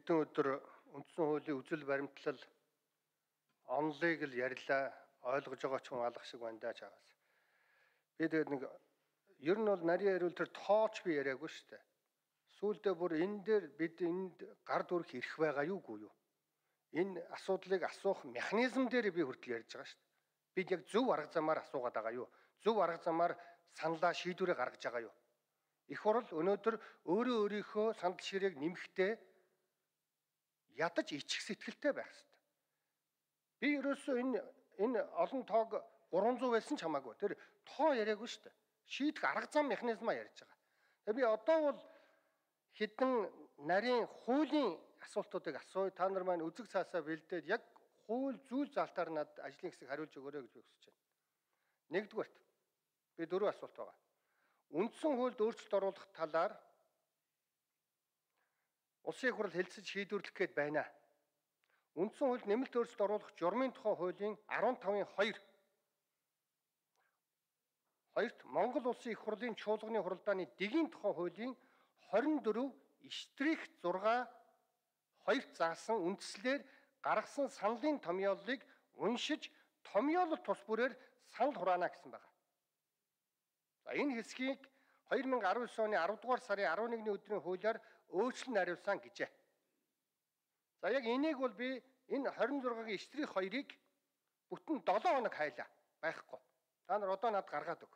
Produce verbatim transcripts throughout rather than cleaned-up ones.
Хэдэн өдөр үндсэн хуулийн үзэл баримтлал онлыг л ярьлаа, ойлгож байгаа ч хүн алах шиг байна даа чагаас. Би тэгээд нэг ер нь бол нарийн хариул тэр тооч би яриаггүй шүү дээ. Сүүлдээ бүр энэ дээр бид энд гар дүрх ирэх байгаа юугүй юу? Энэ асуудлыг асуух механизм дээр би хүртэл ярьж байгаа шүү дээ. Бид яг зөв арга замаар асуугаад байгаа юу? Зөв арга замаар саналаа шийдвэрээ гаргаж байгаа юу? Их хурл өнөөдөр өөрөө өөрийнхөө сандал ширээг нэмэхдээ ядаж ичих сэтгэлтэй байх хэрэгтэй. Би ерөөсөө энэ энэ олон тоог гурван зуун байсан ч хамаагүй. Тэр тоо яриаггүй шүү дээ. Шийдэх арга зам механизмаа ярьж байгаа. Тэгээ би одоо бол хэдэн нарийн хуулийн асуултуудыг асууя. Та нар маань үзэг цаасаа бэлдээд яг хууль зүйл залтаар над ажлын хэсэг хариулж өгөөрэй гэж би хүсэж байна. Нэгдүгээрт би дөрвөн асуулт байгаа. Үндсэн хуульд өөрчлөлт оруулах талаар улсын их хурл хэлцэж шийдвэрлэх гээд байна. Үндсэн хуульд нэмэлт өөрчлөлт оруулах журмын тухай хуулийн арван тавын хоёр хоёрт Монгол улсын их хурлын чуулганы хуралдааны дэгийн тухай хуулийн хорин дөрөв штрих зургаа хоёрт заасан үндслээр гаргасан саналын томьёолыг уншиж томьёолол тус бүрээр санал хураана гэсэн байна. За энэ хэсгийг хоёр мянга арван девять оны арав дугаар сарын арван нэгний өдрийн хуулиар өөрчлөн хариулсан гэжээ. За яг энийг бол би энэ хорин зургагийн штрих хоёрыг бүтэн долоо хоног хайлаа байхгүй. Та нар одоо надад гаргаад өг.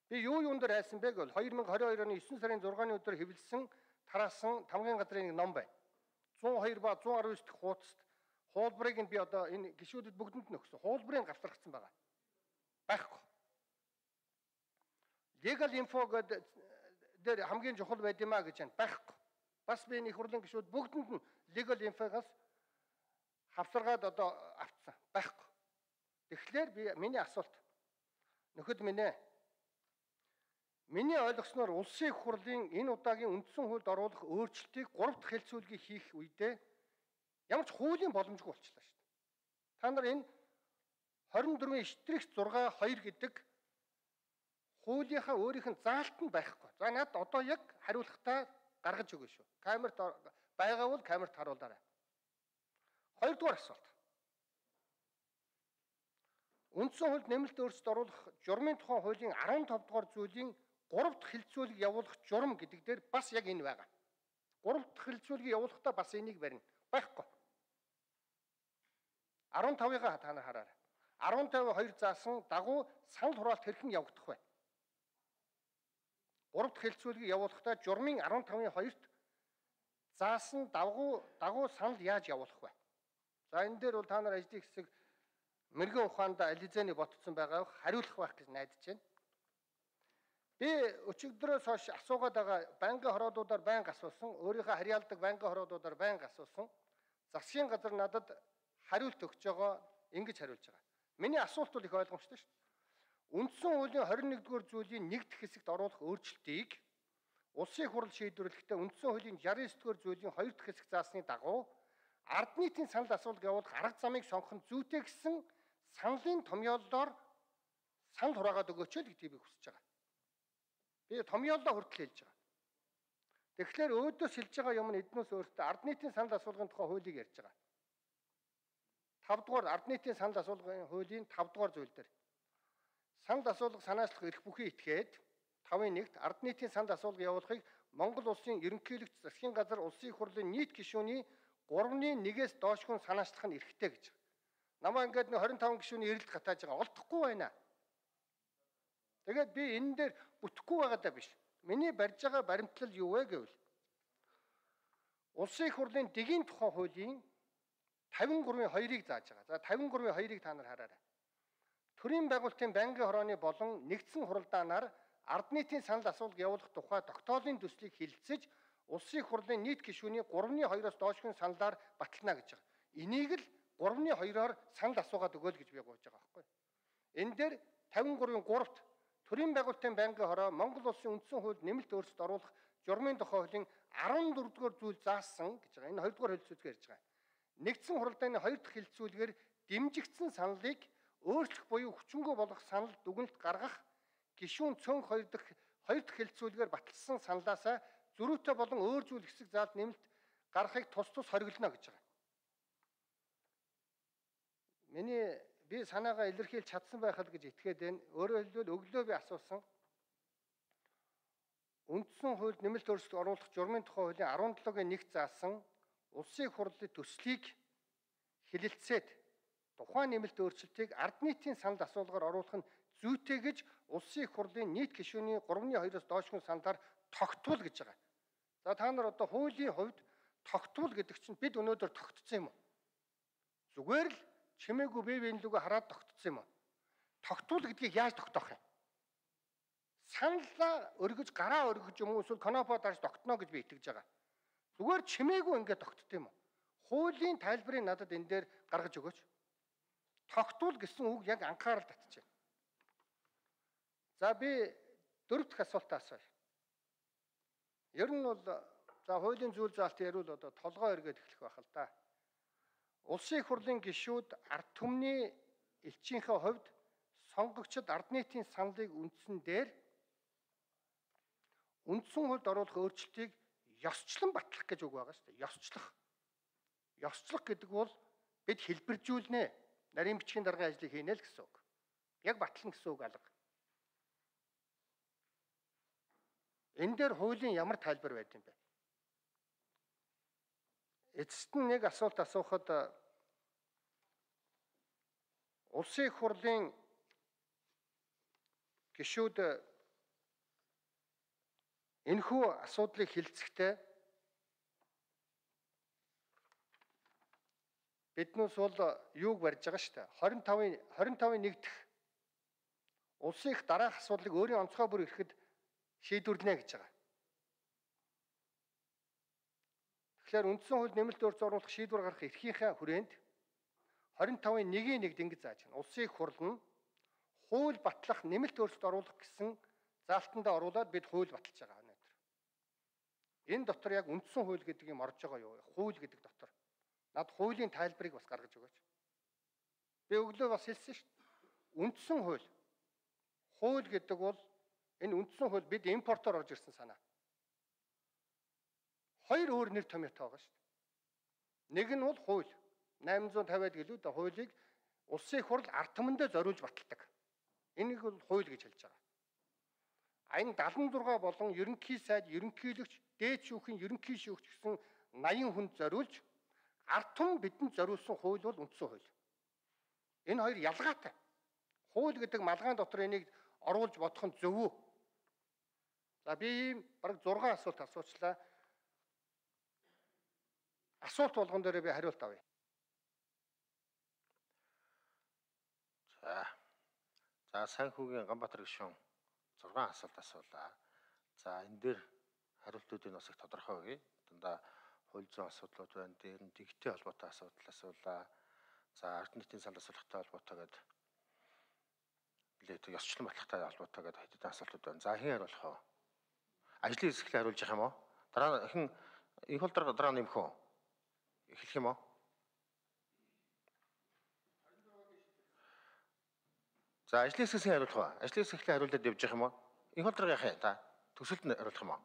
Би юу юун дээр хайсан бэ гэвэл хоёр мянга хорин хоёр оны есөн сарын зургааны өдөр хэвлэсэн тараасан тамгын газрын нэг ном байна. зуун хоёр ба зуун арван девять дэх хуудасд хуулбарыг нь би одоо энэ гишүүдэд бүгдэнд нь өгсөн. Хуулбарыг гавтаргацсан байгаа. Байхгүй. Legal info гэдэг дээр хамгийн чухал байд юмаа гэж байна. Байхгүй. Бас би энэ их хурлын гишүүд бүгдэнд нь legal info-гаас хавсаргаад одоо авцсан. Байхгүй. Тэгэхээр би миний асуулт нөхөд минь ээ. Миний ойлгосноор улсын их хурлын энэ удаагийн үндсэн хуульд оруулах өөрчлөлтийг гурав дахь хэлцүүлгийг хийх үедээ ямар ч хуулийн боломжгүй болчихлоо шүү дээ. Та нар энэ хорин дөрвөн штрих зургаа хоёр гэдэг хуулийнхаа өөрийнх нь заалт нь байхгүй. За надад одоо яг хариулахтаа гаргаж өгөө шүү. Камерт байгаа бол камерт харуулаарай. Хоёрдугаар асуулт. Үндсэн хуульд нэмэлт өөрчлөлт оруулах журмын тухай хуулийн арван тавь дугаар зүйлийн гурав дахь хэлцүүлэг явуулах журам гэдэг дээр бас яг энэ байгаа. гурав дахь хэлцүүлгийг явуулахдаа бас энийг барина. Байхгүй. арван тавыгаа та нар хараарай. арван тавь хоёр заасан дагуу санал хураалт хэрхэн явагдах вэ? гурав дахь хэлцүүлгийг явуулахдаа журмын арван тавын хоёрт заасан дагуу дагуу санал яаж явуулах вэ? За энэ дээр бол та нар ажлын хэсэг мэрэгэн ухаанд ализэний ботцсон байгаа хариулах байх гэж найдаж байна. Би өчигдрөөс хойш асуугаад байгаа банкны хороодуудаар байнга асуусан, өөрийнхөө харьяалдаг банкны хороодуудаар байнга асуусан. Засгийн газар надад хариулт өгч байгаа, ингэж хариулж байгаа. Миний асуулт бол их ойлгомжтой шүү дээ. Үндсэн хуулийн хорин нэгдүгээр зүйлийн нэг дахь хэсэгт оруулах өөрчлөлтийг улсын их хурл шийдвэрлэхдээ үндсэн хуулийн шестдесет дэх зүйлийн хоёр дахь хэсэг заасны дагуу ард нийтийн санал асуулт явуулах арга замыг сонгох нь зүйтэй гэсэн саналын томьёоллоор санал хураагаад өгөөч л гэдгийг би хүсэж байгаа. Би томьёоллоо хүртэл хэлж байгаа. Тэгэхээр өөдөөс хэлж байгаа юм нь эднээс өөртөө ард нийтийн санал асуулгын тухай хуулийг ярьж байгаа. тавь дугаар ард нийтийн санал асуулгын хуулийн тавь дугаар зүйл дээр санал асуулга санаачлах эрх бүхий этгээд тавын нэгт ард нийтийн санал асуулга явуулахыг Монгол улсын ерөнхийлөгч засгийн газар улсын их хурлын нийт гишүүний гуравны нэгээс доошгүй санаачлах нь эрхтэй гэж. Намаа ингээд нэг хорин таван гишүүний эрэлт гатааж байгаа олдохгүй байна. Тэгээд би энэ дээр бүтэхгүй байгаадаа биш. Миний барьж байгаа баримтлал юу вэ гэвэл улсын их хурлын дэгийн тухай хуулийн тавин гурвын хоёрыг зааж байгаа. За тавин гурвын хоёрыг та нар хараарай. Төрийн байгуулалтын банкны хорооны болон нэгдсэн хуралдаанаар ард нийтийн санал асуулга явуулах тухай тогтоолын төслийг хилцэж улсын их хурлын нийт гишүүний гуравны хоёроос доошгүй саналаар батална гэж байгаа. Энийг л гуравны хоёроор санал асуугаад өгөөл гэж би гуйж байгаа байхгүй. Энэ дээр тавин гурвын гуравт Төрийн байгуулалтын банкны хороо Монгол улсын үндсэн хуульд нэмэлт өөрчлөлт оруулах журмын тухай хуулийн арван дөрөв дугаар зүйл заасан гэж байгаа. Энэ хоёр дугаар хэлцүүлгээр ярьж байгаа. Нэгдсэн хуралдааны хоёр дахь хэлцүүлгээр дэмжигдсэн саналыг өөрчлөх буюу хүчингү болгох санал дүгнэлт гаргах гишүүн цөөнх хоёр дахь хоёр дахь хэлцүүлгээр баталсан саналаасаа зөрүүтэй болон өөр зүйл хэсэг заалт нэмэлт гарахыг тус тус хориглоно гэж байгаа. Миний би санаагаа илэрхийлж чадсан байх л гэж итгээд байна. Өөрөөр хэлбэл өглөө би асуусан үндсэн хуульд нэмэлт өөрчлөлт оруулах журмын тухай хуулийн арван долоогийн нэг заасан улсын хурлын төслийг хэлэлцээд тухайн нэмэлт өөрчлөлтийг ард нийтийн санал асуулгаар оруулах нь зүйтэй гэж улсын хурлын нийт гишүүний гуравны хоёроос доошгүй саналаар тогтвол гэж байгаа. За та нар одоо хуулийн хувьд тогтвол гэдэг чинь бид өнөөдөр тогтцсон юм уу? Зүгээр л чимээгүй бие биенлүүгөө хараад тогтцсон юм уу? Тогтвол гэдгийг яаж тогтоох юм? Саналаа өргөж, гараа өргөж юм уу эсвэл конопо дарж тогтно гэж би итгэж байгаа. Зүгээр чимээгүй ингээд тогтд юм уу? Хуулийн тайлбарыг надад энэ дээр гаргаж өгөөч. Тогтвол гэсэн үг яг анхаарал татчихъя. За би дөрөв дэх асуултаа асууя. Ер нь бол за хуулийн зүйл заалтын ярил одоо толгой эргээд эхлэх байх л да. Улсын их хурлын гишүүд ард түмний элчийнхээ хувьд сонгогчид ард нийтийн саналыг үндсэн дээр үндсэн хуульд оруулах өөрчлөлтийг ёсчлон батлах гэж үг байгаа шүү дээ. Ёсчлох. Ёсчлох гэдэг бол бид хэлбэржүүлнэ. Нарийн бичгийн даргын ажлыг хийнэ л гэсэн үг. Яг батлна гэсэн үг алга. Энэ дээр хуулийн ямар тайлбар байд юм бэ? Эцэст нь нэг асуулт асуухад улсын их хурлын гишүүд энэхүү асуудлыг хэлцэхдээ биднээс бол юуг барьж байгаа шүү дээ. хорин тавын хорин тавын нэг дэх улсын их дараах асуудлыг өөрийн онцгой бүр ирэхэд шийдвэрлэнэ гэж байгаа. Тэгэхээр үндсэн хууль нэмэлт өөрчлөлт оруулах шийдвэр гаргах эрхийнхээ хүрээнд хорин тавын нэгийн нэгд ингэж зааж байна. Улсын их хурл нь хууль батлах нэмэлт өөрчлөлт оруулах гэсэн заалтандаа оруулаад бид хууль баталж байгаа өнөөдөр. Энэ дотор яг үндсэн хууль гэдэг юм орж байгаа юу? Хууль гэдэг дотор. Над хуулийн тайлбарыг бас гаргаж өгөөч. Би өглөө бас хэлсэн шүү дээ. Үндсэн хууль. Хууль гэдэг бол энэ үндсэн хууль бид импортоор орж ирсэн санаа. Хоёр өөр нэр томьёотой байгаа шүү дээ. Нэг нь бол хууль. найман зуун тавиад гэлүүд хуулийг улсын их хурл ард түмэндээ зориулж баталдаг. Энийг бол хууль гэж хэлж байгаа. Аян дадлан зургаа болон ерөнхий сайд, ерөнхийлөгч, дээд шүүхийн ерөнхий шүүгч гэсэн наян хүнд зориулж ард түмэн бидэнд зориулсан хууль бол үндсэн хууль. Энэ хоёр ялгаатай. Хууль гэдэг малгайн дотор энийг оруулж бодох нь зөв үү? За би бараг зургаан асуулт асуучлаа. Асуулт болгон дээр би хариулт авъя. За. За Санхүүгийн Ганбаатар гишүүн зургаан асуулт асуулаа. За энэ дээр хариултуудыг бас их тодорхой өгье. Дандаа хууль зүйн асуудлууд байна. Дээр нь дэгтэй холбоотой асуудал асуулаа. За ард нийтийн санал асуулгатай холбоотой гэдэг билээ ёсчлон батлагтай холбоотой гэдэг хэдэн асуултууд байна. За хэн хариулах вэ? Ажлын хэсэглээ хариулж явах юм уу? Дараа хэн их хол дараа дараа нэмэх үү? Эхлэх юм уу? За ажлын хэсгээс хариулах уу? Ажлын хэсэглээ хариулаад явж явах юм уу? Их хол дараа яах юм та? Төсөлд нь хариулах юм уу?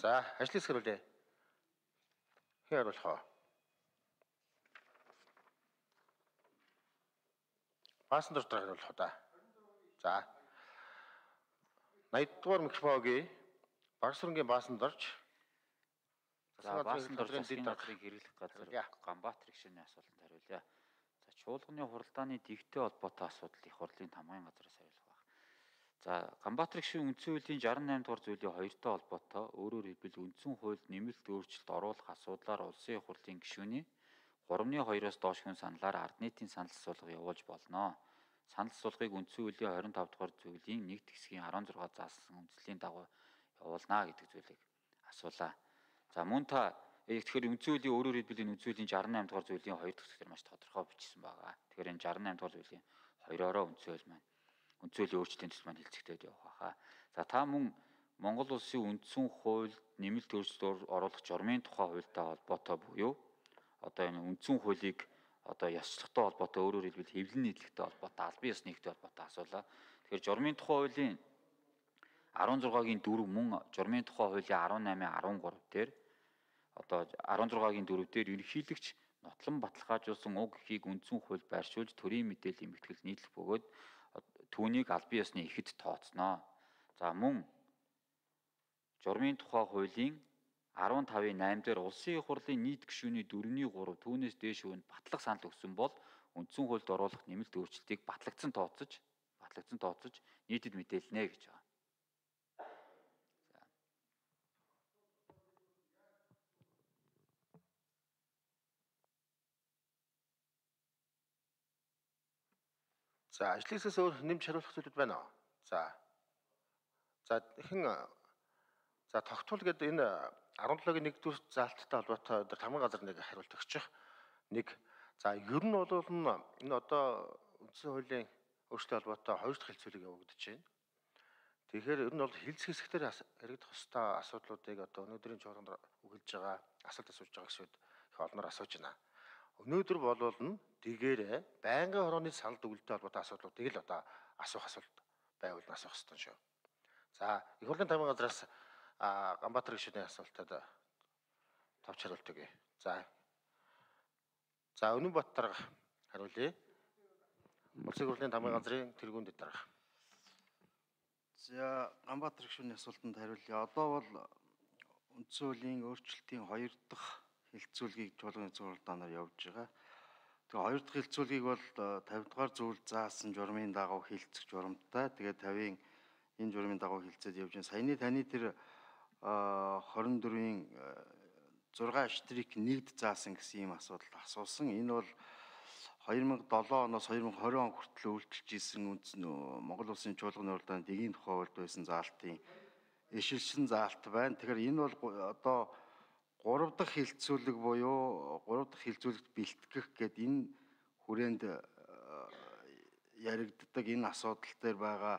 За ажлын хэсэг хариулъя. Хэн хариулах вэ? Баасан дор дараа хариулах уу та? За. найд дугаар микрофоногийн Багсрынгийн Баасан дорж. За Баасан дор засгийн газрыг хэрэглэх газар Ганбаатар гишүүний асуултанд хариулъя. За чуулганы хуралдааны дэгтэй холбоотой асуудал их хурлын тамгын газраас хариулах байх. За Ганбаатар гишүүн үндсэн хуулийн шестьдесят восемь дугаар зүйлийн хоёртой холбоотой өөрөөр хэлбэл үндсэн хуульд нэмэлт өөрчлөлт оруулах асуудлаар улсын их хурлын гишүүний гуравны хоёроос доош хүн саналаар ард нийтийн санал асуулга явуулж болно. Санал асуулгыг үндсэн хуулийн двадцать пять дугаар зүйлийн нэг хэсгийн16 заасан үндслийн дагуу явуулнаа гэдэг зүйлийг асуулаа. За мөн та тэгэхээр үндсэн хуулийн өөрөөр хэлбэл энэ үндсэн хуулийн шестьдесят восемь дугаар зүйлийн хоёр дахь хэсгээр маш тодорхой бичсэн байгаа. Тэгэхээр энэ шестьдесят восемь дугаар зүйлийн хоёроо үндсэн хууль маань үндсэн хуулийн өөрчлөлтийн төсөл маань хэлцэгдээд явах байхаа. За та мөн Монгол улсын үндсэн хуульд нэмэлт өөрчлөлт оруулах журмын тухай хуультай холбоотой буюу одоо энэ үндсэн хуулийг одоо ёсчлогтой холбоотой өөрөөр хэлбэл хэвлэн нийтлэгтэй холбоотой албан ёсны нэгтэй холбоотой асуулаа. Тэгэхээр журмын тухай хуулийн арван зургагийн дөрөв мөн журмын тухай хуулийн арван намын арван гурав дээр одоо арван зургагийн дөрөв дээр ерөнхийлөгч нотлон баталгаажуулсан уг эхийг үндсэн хууль байршуулж төрийн мэдээллийн мэтгэлд нийтлэх бөгөөд түүнийг албан ёсны эхэд тооцноо. За мөн журмын тухай хуулийн арван тавын найман дээр улсын их хурлын нийт гишүүний дөрөвний гурав түүнээс дээш үнд батлах санал өгсөн бол үндсэн хуульд оруулах нэмэлт өөрчлөлтийг батлагдсан тооцож батлагдсан тооцож нийтэд мэдээлнэ гэж байна. За ажлын хэсгээс өөр нэмж хариулах зүйлүүд байна уу? За. За хэн за тогтвол гэдэг энэ арван долоогийн нэгдүгээр заалттай холбоотой өдөр тамган газар нэг хариулт өгчих. Нэг за ер нь бол энэ одоо үндсэн хуулийн өөрчлөлттэй холбоотой хоёр дахь хэлцүүлэг явагдаж байна. Тэгэхээр ер нь бол хэлц хэсгээр яригдах ёстой асуудлуудыг одоо өнөөдрийн чуулганд өгүүлж байгаа асуулт асууж байгаа гişүүд их олноор асууж байна. Өнөөдөр болвол нь дэгээрээ байнгын хорооны санал дүгнэлттэй холбоотой асуудлуудыг л одоо асуух асуулт байвал асуух ёстой шүү. За их хурлын тамган газраас Ганбаатар гишүүний асуултад товч хариулт өгье. За. За Өнөнбат дарга хариулъя. Улсын хурлын тамган газрын тэргүүнд дарга. За Ганбаатар гишүүний асуултанд хариулъя. Одоо бол үндсэн хуулийн өөрчлөлтийн хоёр дахь хэлцүүлгийг чуулганы зургалдаанаар явж байгаа. Тэгээ хоёр дахь хэлцүүлгийг бол тавь дугаар зүйл заасан журмын дагуу хэлцэх журамтай. Тэгээ тавийн энэ журмын дагуу хэлцээд явж байгаа. Саяны таны тэр хорин дөрвийн зургаан штрик нэгд заасан гэсэн ийм асуудал асуусан. Энэ бол хоёр мянга долоо оноос хоёр мянга хорин он хүртэл үйлчилж исэн үндэс Монгол Улсын чуулганы уралдааны дэгийн тухай хуульд байсан заалтын ишилшин заалт байна. Тэгэхээр энэ бол одоо гурав дахь хэлцүүлэг буюу гурав дахь хэлцүүлэгт бэлтгэх гэдэг энэ хүрээнд яригддаг энэ асуудал дээр байгаа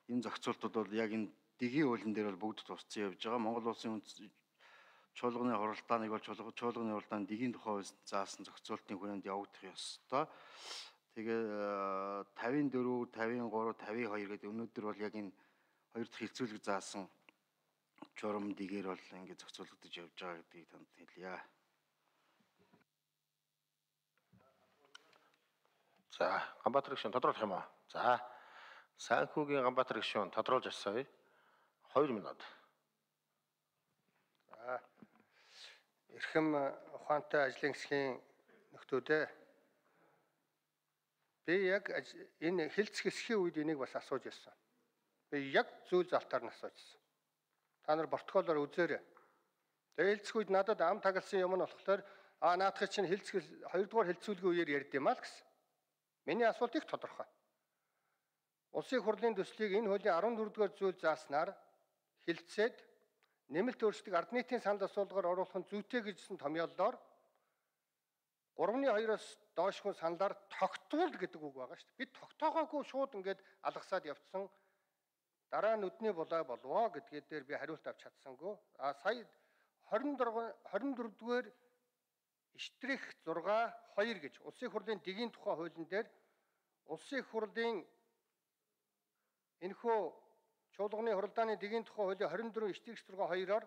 энэ зохицуултууд бол яг энэ дэгийн хуулийн дээр бол бүгд тусцсан явж байгаа. Монгол Улсын чуулганы хуралдааныг бол чуулганы хуралдааны дэгийн тухай заасан зохицуултын хүрээнд явагдах ёстой. Тэгээ тавын дөрөв, тавын гурав, тавын хоёр гэдэг өнөөдөр бол яг энэ хоёр дахь хэлцүүлэг заасан журам дэгээр бол ингээд зохицуулагдаж явж байгаа гэдгийг танд хэлье. За Ганбаатар гишүүн тодруулах юм аа. За Санхүүгийн Ганбаатар гишүүн тодруулж асууя. хоёр минут. За эрхэм ухаантай ажлын хэсгийн нөхдүүдээ би яг энэ хэлц хэсгийн үед энийг бас асууж ирсэн. Би яг зүйл залтаар нь асуужсэн. Та нар протоколоор үзээрэй. Тэгээ хэлцэх үед надад ам тагалсан юм нь болохоор аа наадах чинь хэлцэх хоёрдугаар хэлцүүлгийн үеэр ярьд юм аа л гэсэн. Миний асуулт их тодорхой. Улсын хурлын төслийг энэ хуулийн арван дөрөвдүгээр зүйл зааснаар хэлцээд нэмэлт өөрчлөлтийг ард нийтийн санал асуулгаар оруулах нь зүйтэй гэжсэн томьёоллоор гуравны хоёроос доошгүй саналаар тогтвол гэдэг үг байгаа шүү дээ. Бид тогтоогоогүй шууд ингээд алгасаад явцсан. Дараа нь нүдний булаа болвоо гэдгээр дээр би хариулт авч чадсангүй. А сая хорин дөрөвдүгээр штрих зураг хоёр гэж улсын хурлын дэгийн тухай хуулийн дээр улсын хурлын энэхүү чуулганы хуралдааны дэгийн тухай хуулийн хорин дөрөв штрих зураг хоёроор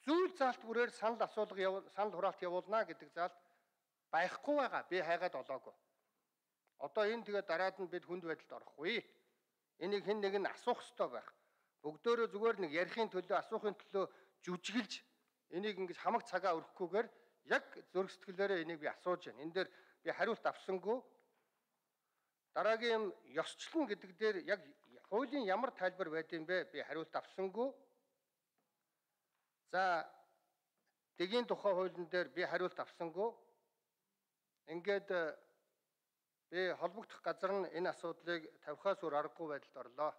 зүйл заалт бүрээр санал асуулга санал хураалт явуулна гэдэг заалт байхгүй байгаа. Би хайгаад олоогүй. Одоо энэ тэгээ дараад нь бид хүнд байдалд орохгүй. Энийг хэн нэг нь асуух ёстой байх. Бүгдөө зүгээр нэг ярихын төлөө асуухын төлөө жүжиглж энийг ингэж хамаг цагаа өргөхгүйгээр яг зөрг сэтгэлээрээ энийг би асууж байна. Энэ дээр би хариулт авсангүй. Дараагийн юм ёсчлон гэдэг дээр яг хуулийн ямар тайлбар байдığım бэ? Би хариулт авсангүй. За дэгийн тухай хуулийн дээр би хариулт авсангүй. Ингээд би холбогдох газар нь энэ асуудлыг тавихаас өөр аргагүй байдалд орлоо.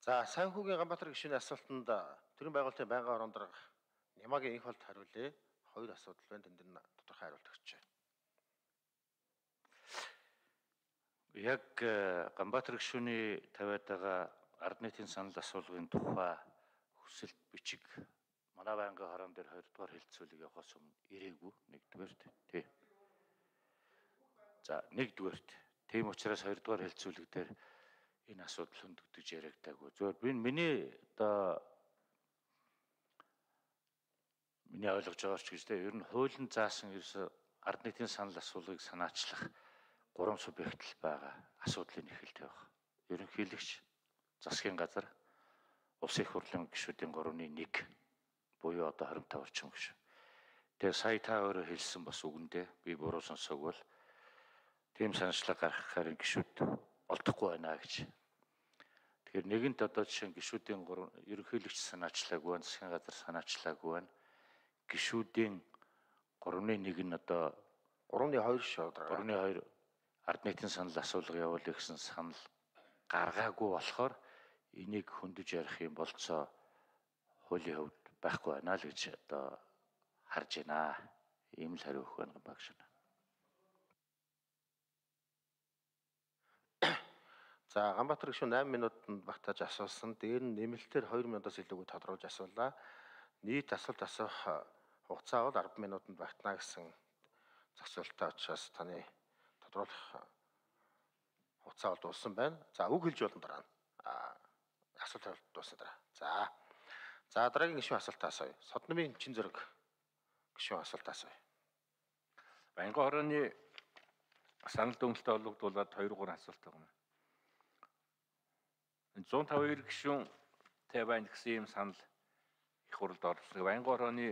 За Санхүүгийн Ганбаатар гишүүний асуултанд төрийн байгуулалтын байнгын орон дарга Нямагийн инх болд хариулъя. Хоёр асуудал байна. Тэнд нь тодорхой хариулт өгч байна. Яг Ганбаатар гишүүний тавиад байгаа ард нийтийн санал асуулгын тухай хүсэлт бичиг манай байнгын хорон дээр хоёр дахь хилцүүлэг явахаас өмнө ирээгүй нэгдүгээрт тий. За нэгдүгээрт тийм учраас хоёр дахь хилцүүлэг дээр энэ асуудал хөндөгдөж яригдаагүй. Зөвхөн би миний одоо миний ойлгож байгаач гэж тий ер нь хуулийн заасан ерөөсө ард нийтийн санал асуулгыг санаачлах гурван субъект л байгаа асуудлын эхэлт явах. Ерөнхийлөгч, засгийн газар, улс их хурлын гишүүдийн гуравны нэг буюу одоо хорин тавь орчим гишүүн. Тэгээ сая та өөрөө хэлсэн бас үгэндээ би буруу сонсоогүй бол тийм санаачлаг гаргахаар гишүүд олдохгүй байна гэж. Тэгэхээр нэгэнт одоо жишээ нь гишүүдийн гурав ерөнхийлөгч санаачлаагүй байна, засгийн газар санаачлаагүй байна. Гишүүдийн гуравны нэг нь одоо гуравны хоёр шүү. гуравны хоёр ард нийтийн санал асуулга явуулъя гэсэн санал гаргаагүй болохоор энийг хөндөж ярих юм болцоо хуулийн хувьд байхгүй байна л гэж одоо харж байна. Ийм л хариу өгөх байна багш. За Ганбаатар гишүүн eight минутанд багтааж асуусан. Дээр нь нэмэлтээр two минутаас илүүгүй тодруулж асуулаа. Нийт асуулт асуух хугацаа бол ten минутанд багтана гэсэн зохицуултаа учраас таны тодруулах хугацаа бол дууссан байна. За үг хэлж болно дараа нь. Асуулт дуусна дараа. За. За дараагийн гишүүн асуултаа асууя. Содномын чин зэрэг гишүүн асуултаа асууя. Байнгын хорооны санал дүгнэлтэд олгогдуулаад two three асуулт байгаа юм. one oh five гишүүн тэй байна гэсэн ийм санал их хурлд орсон. Байнгын хорооны